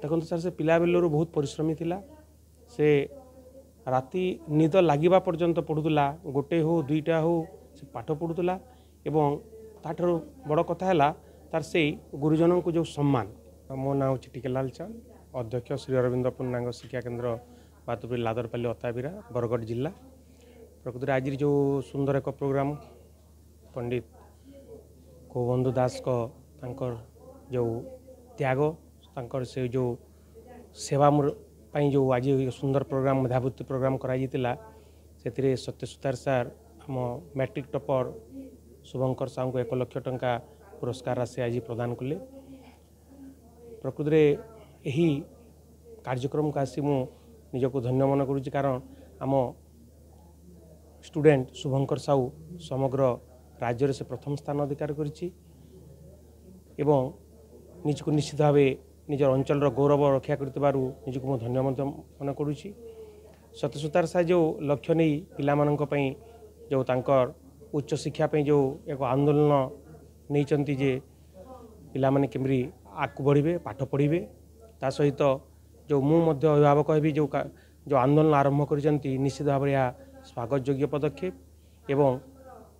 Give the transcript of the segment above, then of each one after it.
ଦେଖନ୍ତୁ ସାର୍, ସେ ପିଲାବେଳରୁ ବହୁତ ପରିଶ୍ରମୀ ଥିଲା। ସେ ରାତି ନିଦ ଲାଗିବା ପର୍ଯ୍ୟନ୍ତ ପଢ଼ୁଥିଲା, ଗୋଟେ ହଉ ଦୁଇଟା ହଉ ସେ ପାଠ ପଢ଼ୁଥିଲା। ଏବଂ ତାଠାରୁ ବଡ଼ କଥା ହେଲା ତାର ସେଇ ଗୁରୁଜନଙ୍କୁ ଯେଉଁ ସମ୍ମାନ। ମୋ ନାଁ ହେଉଛି ଟିକେଲାଲ ଚାନ୍ଦ, ଅଧ୍ୟକ୍ଷ ଶ୍ରୀ ଅରବିନ୍ଦ ପୂର୍ଣ୍ଣାଙ୍ଗ ଶିକ୍ଷା କେନ୍ଦ୍ର, ବାତୁପୁର, ଲାଦରପାଲି, ଅତାବିରା, ବରଗଡ଼ ଜିଲ୍ଲା। ପ୍ରକୃତରେ ଆଜିର ଯେଉଁ ସୁନ୍ଦର ଏକ ପ୍ରୋଗ୍ରାମ୍, ପଣ୍ଡିତ ଗୋବନ୍ଧୁ ଦାସଙ୍କ ତାଙ୍କର ଯେଉଁ ତ୍ୟାଗ, ତାଙ୍କର ସେ ଯେଉଁ ସେବା ପାଇଁ ଯେଉଁ ଆଜି ସୁନ୍ଦର ପ୍ରୋଗ୍ରାମ୍, ମେଧାବୃତ୍ତି ପ୍ରୋଗ୍ରାମ୍ କରାଯାଇଥିଲା, ସେଥିରେ ସତ୍ୟ ସୁତାର ସାର୍ ଆମ ମ୍ୟାଟ୍ରିକ୍ ଟପର ଶୁଭଙ୍କର ସାହୁଙ୍କୁ 1 ଲକ୍ଷ ଟଙ୍କା ପୁରସ୍କାର ରାଶି ଆଜି ପ୍ରଦାନ କଲେ। ପ୍ରକୃତରେ ଏହି କାର୍ଯ୍ୟକ୍ରମକୁ ଆସି ମୁଁ ନିଜକୁ ଧନ୍ୟ ମନେ କରୁଛି, କାରଣ ଆମ ଷ୍ଟୁଡେଣ୍ଟ ଶୁଭଙ୍କର ସାହୁ ସମଗ୍ର ରାଜ୍ୟରେ ସେ ପ୍ରଥମ ସ୍ଥାନ ଅଧିକାର କରିଛି ଏବଂ ନିଜକୁ ନିଶ୍ଚିତ ଭାବେ ନିଜର ଅଞ୍ଚଳର ଗୌରବ ରକ୍ଷା କରିଥିବାରୁ ନିଜକୁ ମୁଁ ଧନ୍ୟ ମଧ୍ୟ ମନେ କରୁଛି। ସତ୍ୟସୁତାର ସାର୍ ଯେଉଁ ଲକ୍ଷ୍ୟ ନେଇ ପିଲାମାନଙ୍କ ପାଇଁ ଯେଉଁ ତାଙ୍କର ଉଚ୍ଚଶିକ୍ଷା ପାଇଁ ଯେଉଁ ଏକ ଆନ୍ଦୋଳନ ନେଇଛନ୍ତି ଯେ ପିଲାମାନେ କେମିତି ଆଗକୁ ବଢ଼ିବେ, ପାଠ ପଢ଼ିବେ, ତା ସହିତ ଯେଉଁ ମୁଁ ମଧ୍ୟ ଅଭିଭାବକ ହେବି ଯେଉଁ ଯେଉଁ ଆନ୍ଦୋଳନ ଆରମ୍ଭ କରିଛନ୍ତି, ନିଶ୍ଚିତ ଭାବରେ ଏହା ସ୍ୱାଗତ ଯୋଗ୍ୟ ପଦକ୍ଷେପ ଏବଂ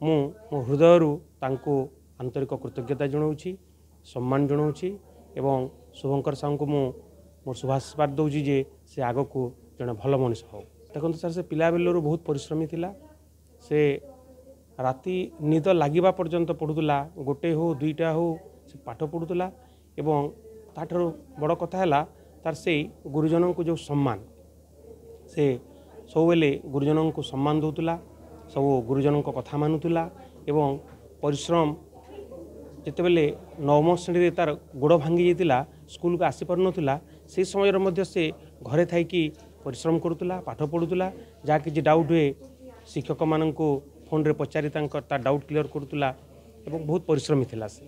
ମୁଁ ମୋ ହୃଦୟରୁ ତାଙ୍କୁ ଆନ୍ତରିକ କୃତଜ୍ଞତା ଜଣାଉଛି, ସମ୍ମାନ ଜଣାଉଛି ଏବଂ ଶୁଭଙ୍କର ସାହୁଙ୍କୁ ମୁଁ ମୋର ଶୁଭାଶୀର୍ବାଦ ଦେଉଛି ଯେ ସେ ଆଗକୁ ଜଣେ ଭଲ ମଣିଷ ହେଉ। ଦେଖନ୍ତୁ ସାର୍, ସେ ପିଲାବେଳରୁ ବହୁତ ପରିଶ୍ରମୀ ଥିଲା। ସେ ରାତି ନିଦ ଲାଗିବା ପର୍ଯ୍ୟନ୍ତ ପଢ଼ୁଥିଲା, ଗୋଟେ ହଉ ଦୁଇଟା ହଉ ସେ ପାଠ ପଢ଼ୁଥିଲା। ଏବଂ ତାଠାରୁ ବଡ଼ କଥା ହେଲା ତାର ସେଇ ଗୁରୁଜନଙ୍କୁ ଯେଉଁ ସମ୍ମାନ, ସେ ସବୁବେଳେ ଗୁରୁଜନଙ୍କୁ ସମ୍ମାନ ଦେଉଥିଲା, ସବୁ ଗୁରୁଜନଙ୍କ କଥା ମାନୁଥିଲା ଏବଂ ପରିଶ୍ରମ। ଯେତେବେଳେ ନବମ ଶ୍ରେଣୀରେ ତାର ଗୋଡ଼ ଭାଙ୍ଗି ଯାଇଥିଲା, ସ୍କୁଲକୁ ଆସିପାରୁନଥିଲା, ସେହି ସମୟରେ ମଧ୍ୟ ସେ ଘରେ ଥାଇକି ପରିଶ୍ରମ କରୁଥିଲା, ପାଠ ପଢ଼ୁଥିଲା। ଯାହା କିଛି ଡାଉଟ୍ ହୁଏ ଶିକ୍ଷକମାନଙ୍କୁ ଫୋନ୍ରେ ପଚାରି ତାଙ୍କ ତା ଡାଉଟ୍ କ୍ଲିଅର୍ କରୁଥିଲା ଏବଂ ବହୁତ ପରିଶ୍ରମୀ ଥିଲା ସେ।